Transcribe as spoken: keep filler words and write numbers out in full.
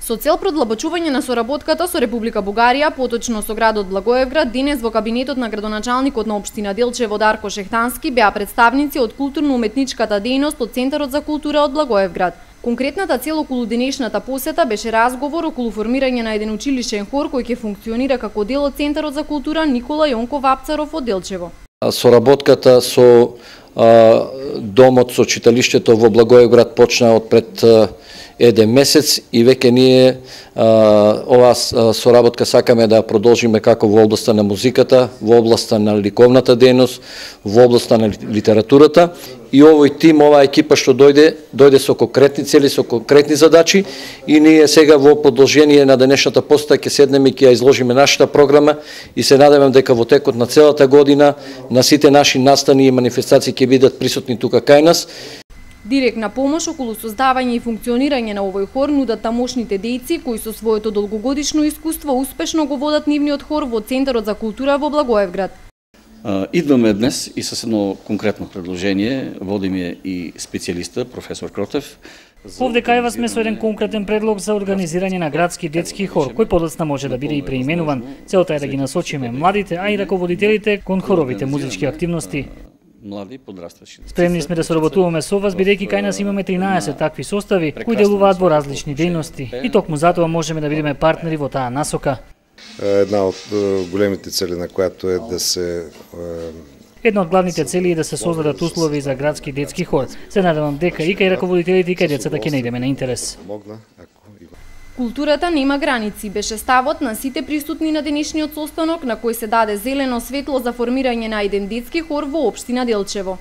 Со цел продлабочување на соработката со Република Бугарија, поточно со градот Благоевград, денес во кабинетот на градоначалникот на општина Делчево Дарко Шехтански беа представници од културно-уметничката дејност од Центарот за култура од Благоевград. Конкретната цел околу денешната посета беше разговор околу формирање на еден училишен хор кој ќе функционира како дел од Центарот за култура Никола Јонков Апцаров од Делчево. Соработката со а, домот со читалиштето во Благоевград почна од пред а, еден месец и веќе ние а, оваа соработка сакаме да продолжиме како во областа на музиката, во областа на ликовната дејност, во областа на литературата и овој тим, оваа екипа што дојде, дојде со конкретни цели, со конкретни задачи и ние сега во продолжение на денешната посета ќе седнеме и ќе ја изложиме нашата програма и се надевам дека во текот на целата година на сите наши настани и манифестации ќе бидат присутни тука кај нас. Директна помош околу создавање и функционирање на овој хор нудат тамошните дејци кои со своето долгогодишно искуство успешно го водат нивниот хор во Центарот за култура во Благоевград. Идваме днес и со едно конкретно предложение, водим ја и специјалиста, професор Кротев. Овде кај вас сме со еден конкретен предлог за организирање на градски детски хор, кој подоцна може да биде и преименуван. Целта е да ги насочиме младите, а и раководителите кон хоровите музички активности. Млади подрастващи. Спремни сме да соработуваме со вас, бидејќи кај нас имаме тринаесет такви состави кои делуваат во различни дејности. И токму затоа можеме да бидеме партнери во таа насока. Една од големите цели на којато е да се Една од главните цели е да се создадат услови за градски детски хор. Се надевам дека и кај раководителите и кај децата ќе најдеме на интерес. Културата нема граници беше ставот на сите присутни на денешниот состанок на кој се даде зелено светло за формирање на еден детски хор во општина Делчево.